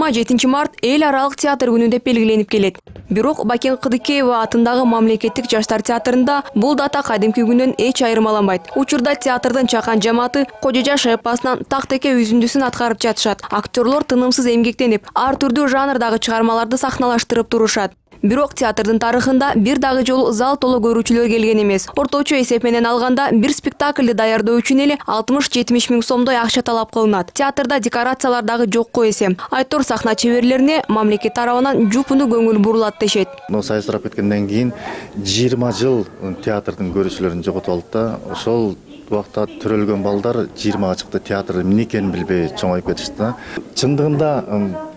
27 март эл аралык театр күнү деп белгиленип келет. Бирок Бакен Кыдыкеева атындагы мамлекеттик жаштар театрында бул дата кадимки күнүнөн эч айырмаланбайт. Учурда театрдын чакан жамааты Кожо Жаш эпосунан тактеке үзүндүсүн аткарып жатышат. Актерлор тынымсыз эмгектенип, ар түрдүү жанрдагы чыгармаларды сахналаштырып турушат. Бирок театрдын тарыхында бир дагы жолу зал толо көрүүчүлөр келген эмес. Орточо эсеп менен алганда бир спектакльди даярдоо үчүн эле 60-70 миң сомдой акча талап кылынат. Театрда декорациялар дагы жокко эсе. Айтор сахна чеберлерине мамлекет тарабынан жупуну көңүл бурулат дешет. Сайыстырап кеткенден кийин 20 жыл театрдын көрүүчүлөрүн жоготуп алды да, ошол убакта төрөлгөн балдар 20 чыкты, театр эмне экенин билбей чоңоюп кетишти. Чындыгында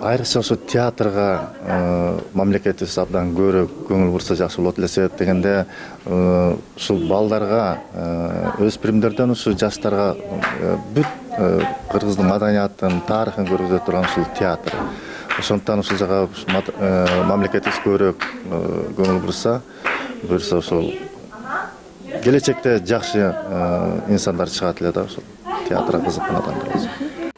айрыкча ошо театрга мамлекетибиз абдан көрө көңүл бурса жакшы болот эле дегенде, ушул балдарга, өспүрүмдөрдөн ушу жаштарга бүт кыргыздын маданиятын, тарыхын көргөзө турган ушул театр. Ошондуктан ушул жага мамлекетибиз көрө көңүл бурса ошол келечекте жакшы инсандар чыгат эле да, ошол театрга кызыккан адамдар болсо.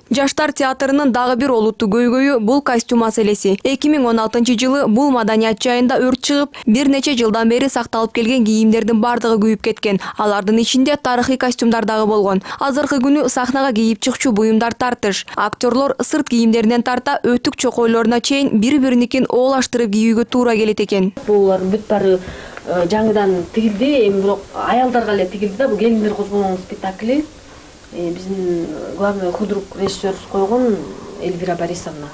Жаштар театрынын дагы бир олуттуу көйгөйү бул костюм маселеси. 2016 жылы бул маданият жайында өрт чыгып, бир нече жылдан бери сакталып келген кийимдердин бардыгы күйүп кеткен. Алардын ичинде тарыхый костюмдар дагы болгон. Азыркы күнү сахнага кийип чыкчу буюмдар тартыш. Актерлор сырт кийимдеринен тарта өтүк чокойлоруна чейин бири-бириникин оолаштырып кийүүгө туура келет экен. Булар бүт баары жаңыдан тигилди, эми бирок аялдарга эле тигилди да. Бул келиндер козгонуң спектакли. Биздин главный худрук режиссерибиз койгон Эльвира Борисовна.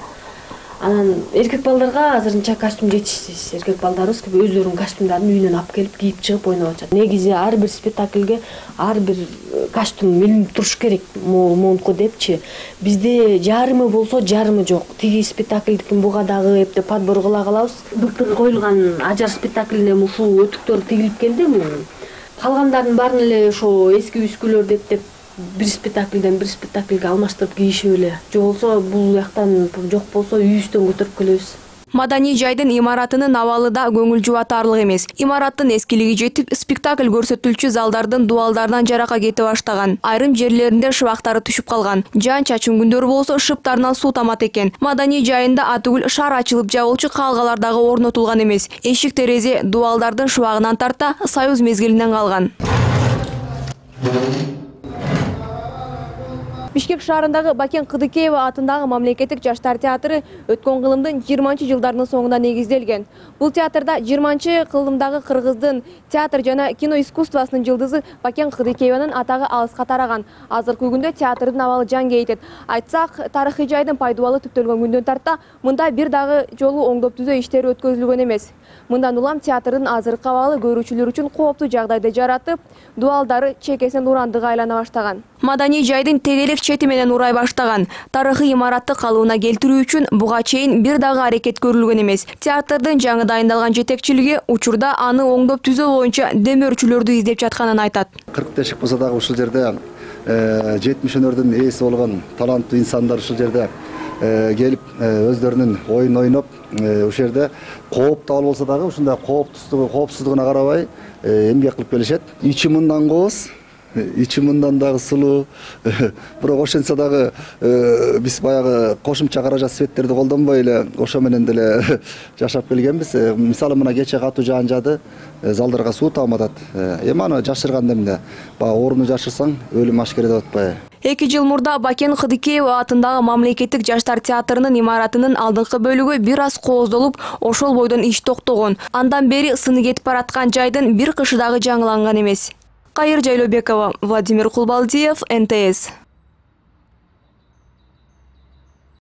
Анан эркек балдарга азырынча костюм жетишсиз. Эркек балдарыбыз өздөрүнүн костюмдарын үйүнөн алып келип кийип чыгып ойноп атышат. Негизи ар бир спектакльге ар бир костюм илинип туруш керек, монтко депчи. Бизде жарымы болсо жарымы жок. Тиги спектакльдикин буга дагы эптеп подбор кыла калабыз. Былтыр коюлган Ажар спектаклине ушул өтүктөр тигилип келди. Калгандардын баарын эле ошо эски үскүлөр деп бир спектакльден бир спектакльге алмаштырып кийишип эле. Же болсо бул жактан жок болсо үйүбүздөн көтөрүп келебиз. Маданий жайдын имаратынын абалы да көңүл жубатарлык эмес. Имараттын эскилиги жетип, спектакль көрсөтүлчү залдардын дуалдарынан жарака кете баштаган. Айрым жерлеринде шыбактары түшүп калган. Жаан-чачын күндөрү болсо шыптарынан суу тамат экен. Маданий жайында атүгүл шар ачылып жабылчу калгалар дагы орнотулган эмес. Эшик терезе дуалдардын шыбагынан тарта Союз мезгилинен калган. Бишкек шаарындагы Бакен Кыдыкеева атындагы мамлекеттик жаштар театры өткөн кылымдын 20 жылдарынын соңунда негизделген. Бул театрда 20 кылымдагы кыргыздын театр жана кино искусствосунун жылдызы Бакен Кыдыкееванын атагы алыска тараган. Азыркы күндө театрдын абалы жан кейтет. Айтсак, тарыхый жайдын пайдубалы түптөлгөн күндөн тарта мында бир дагы жолу оңдоп түзөө иштери өткөзүлгөн эмес. Мындан улам театрдын азыркы абалы көрүүчүлөр үчүн кооптуу жагдайды жаратып, дуалдары чекесинен урандыга айлана баштаган. Маданий жайдын тегелек чети менен урай баштаган. Тарыхый имаратты калыбына келтирүү үчүн буга чейин бир дагы аракет көрүлгөн эмес. Театрдын жаңы дайындалган жетекчилиги учурда аны оңдоп түзөө боюнча демөөрчүлөрдү издеп жатканын айтат. 40 тешик болсо дагы ушул жерде 70-өнөрдүн ээси болгон таланттуу инсандар ушул жерде келип өздөрүнүн оюн ойноп, ушул жерде кооптуу абал болсо дагы ушундай коопсуздугуна карабай эмгек кылып келишет. Ичи мындан кооз, ичи мындан дагы сулуу. Бирок ошентсе дагы биз баягы кошумча каражат светтерди колдонбой эле ошо менен деле жашап келгенбиз. Мисалы мына кече катуу жаан жаады, залдарга суу тааматат. Эми аны жашырганда эмне? Баягы ооруну жашырсаң өлүм ашкере деп атпайбы? 2 жыл мурда Бакен Кыдыкеева атындагы мамлекеттик жаштар театрынын имаратынын алдыңкы бөлүгү бир аз кооздолуп, ошол бойдон иш токтогон. Андан бери сыны кетип бараткан жайдын бир кышы дагы жаңыланган эмес. Кайыр Жайлообекова, Владимир Кулбалдиев, НТС.